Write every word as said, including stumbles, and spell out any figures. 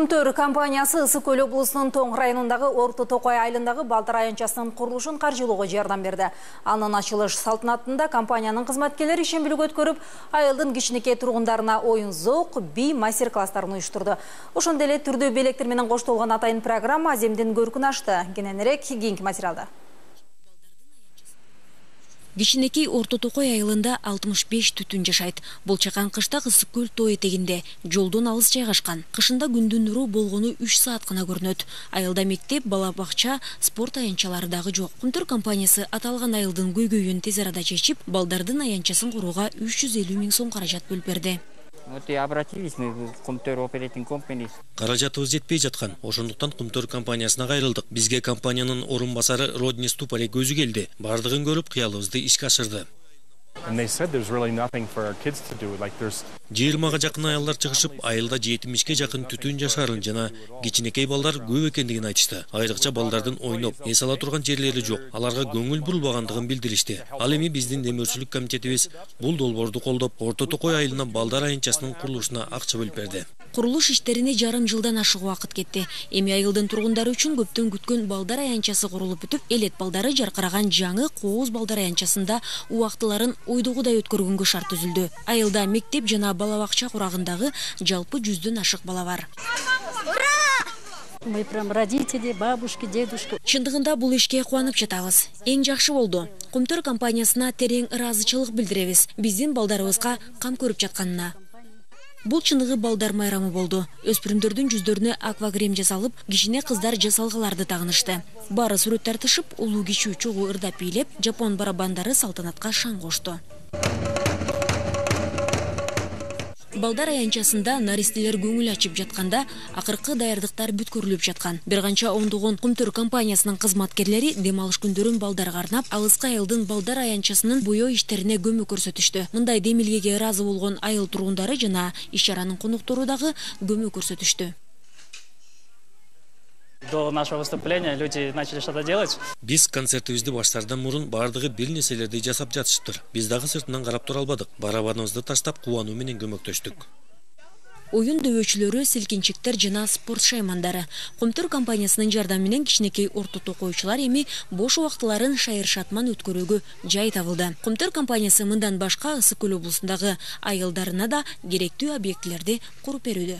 Кумтөр компаниясы Ысык Көл облусунун Тоң районундагы Орто Токой айылындагы балдар аянтчасынын курулушун каржылоого жардам берди. Анын ачылыш салтанатында компаниянын кызматкерлери ишембилик өткөрүп, айылдын кичинекей тургундарына оюн зоок, би мастер-класстарын уюштурду. Ошондой эле түрдүү белектер менен коштолгон атайын программа аземдин көркүн ачты. Кененирээк кийинки материалда. Кичинекей Орто Токой айылында алтымыш беш түтүн жашайт. Бул чакан кышта Ысык Көл тоо этегинде, жолдон алыс жайгашкан. Кышында күндүн нуру болгону үч саат гана көрүнөт. Айылда мектеп, бала бакча, спорт аянтчалары дагы жок. Кумтөр компаниясы аталган айылдын көйгөйүн тез арада чечип, балдардын аянтчасын курууга үч жүз элүү миң сом каражат бөлүп берди. Вот и обратились мы в Кумтөр Operating Company. Каражатыбыз жетпей жаткан. Ошондуктан Кумтөр компаниясына кайрылдык. Бизге компаниянын орун басары Родни Ступалек өзү келди. Бардыгын көрүп, кыялыбызды ишке ашырды. жыйырмага жакын аялдар чыгышып, айылда жетимишке жакын түтүн жашарын жана кичинекей балдар көп экендигин айтышты. Айрыкча балдардын ойноп, эс ала турган жерлери жок. Аларга көңүл бурулбагандыгын билдиришти. Ал эми биздин демөөрчүлүк комитетибиз бул долбоорду колдоп, Орто Токой айылына балдар аянтчасынын курулушуна акча бөлүп берди. Курулуш иштерине жарым жылдан ашык убакыт кетти. Эми айылдын тургундары үчүн көптөн күткөн балдар аянтчасы курулуп бүтүп, элет балдары жаркыраган жаңы Кооз балдар аянтчасында убактыларын ойдогудай өткөргөнгө шарт түзүлдү. Айылда мектеп жана бала бакча курагындагы жалпы жүздөн ашык бала бар. Мы прям родители, бабушки, дедушки. Чындыгында бул ишке кубанып жатабыз. Эң жакшы болду. Кумтөр компаниясына терең ыраазычылык билдиребиз. Биздин балдарыбызга кам көрүп жатканына. Бул чыныгы балдар майрамы болду. Өспүрүмдөрдүн жүздөрүнө аквагрим жасалып, кичине кыздар жасалгаларды тагынышты. Бары сүрөт тартышып, улуу кичүү чогуу ырдап бийлеп, жапон барабандары салтанатка шаң кошту. Балдар аянтчасында наристелер көңүл ачып жатканда, акыркы даярдыктар бүткөрүлүп жаткан. Бир канча ондогон Кумтөр компаниясынын кызматкерлери дем алыш күндөрүн балдарга арнап, алыскы айылдын балдар аянтчасынын буйоо иштерине көмөк көрсөтүштү. Мындай демилгеге ыраазы болгон айыл тургундары жана иш-чаранын коноктору дагы көмөк көрсөтүштү. До нашего выступления люди начали что-то делать. Биз концертибизди баштаардан мурун бардыгы бир нерселерди жасап жатышыптыр. Биз дагы сыртынан карап тура албадык. Барабаныбызды таштап кубануу менен көмөктөштүк. Оюн дөбөчүлөрү, силкинчиктер жана спорт шаймандары. Кумтөр компаниясынын жардамы менен кичинекей Орто Токойчулар эми бош убактыларын шайыр-шатман өткөрүүгө жай табылды. Кумтөр компаниясы мындан башка Ысык Көл облусундагы айылдарына да керектүү объектилерди куруп берүүдө.